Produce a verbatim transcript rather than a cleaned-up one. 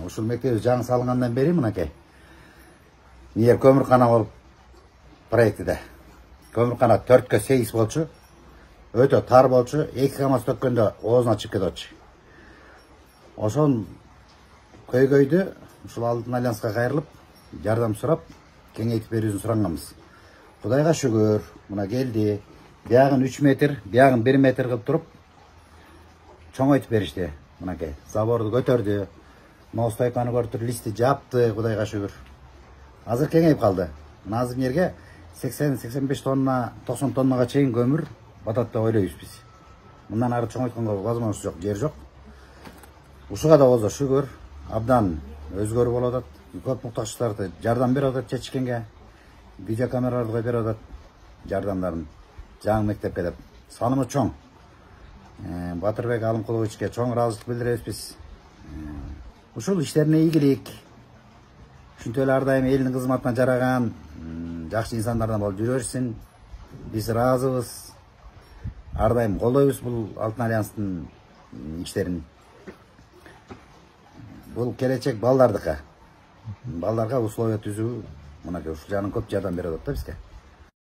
ушул мектеп жаңы салынгандан бери мынакей нер көмүркана болуп проектиде. Көмүркана төрткө сегиз болчу. Өтө тар болчу. эки камаз төккөндө оозуна чыгып кетчү. Ошон көйгөйдү ушул Алтын Альянска кайрылып, жардам сурап, кеңейтип берүүсүн суранганбыз. Кудайга шүгүр, мына келди. Биягын үч метр, биягын бир метр кылып туруп, чоңойтуп беришти. Мынакей, заборду көтөрдү. Ноостойканы көрүп листи жапты, кудайга шүгүр. Азыр кеңейип калды. Мына азыр жерге сексен сексен беш тонна, токсон тоннага чейин көмүр батат деп ойлойбуз биз. Мындан ары чоңойтконго возможность жок, жер жок. Ушуга да болсо шүгүр, абдан өзгөрүү болуп атат. Көп муктаждарды жардам берип атат чечкенге. Видеокамераларды коюп берип атат жардамдарын. Жаңы мектепке деп. Санымы чоң. Батырбек Алымкуловичке чоң ыраазычылык билдиребиз биз. Ушул иштерине ийгилик. Ушинтип эле ар дайым элдин кызматына жараган жакшы инсандардан болуп жүрө берсин. Биз ыраазыбыз. Ар дайым колдойбуз бул Алтын Альянстын иштерин. Бул келечек балдардыкы. Балдарга условия түзүү, мына ушул жагынан көп жардам берип атат да бизге.